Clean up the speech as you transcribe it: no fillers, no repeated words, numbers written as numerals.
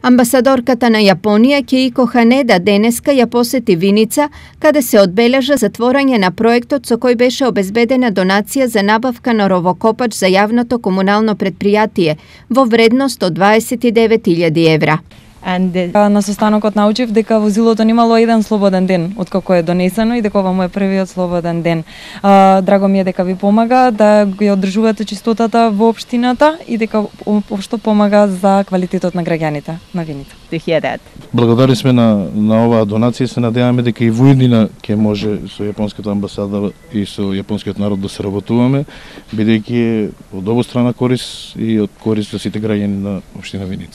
Амбасадорката на Јапонија Кеико Ханеда денеска ја посети Виница, каде се одбележа затворање на проектот со кој беше обезбедена донација за набавка на ровокопач за јавното комунално предпријатие во вредност од 29.000 евра. На состанокот научив дека возилото немало еден слободен ден откако е донесено и дека ова му е првиот слободен ден. Драго ми е дека ви помага да ја одржувате чистотата во општината и дека општо помага за квалитетот на граѓаните на Виница. Благодарни сме на оваа донација и се надеваме дека и во иднина ќе може со јапонската амбасада и со јапонскиот народ да се работуваме, бидејќи е од обострана корис и од корис за сите граѓани на општина Виница.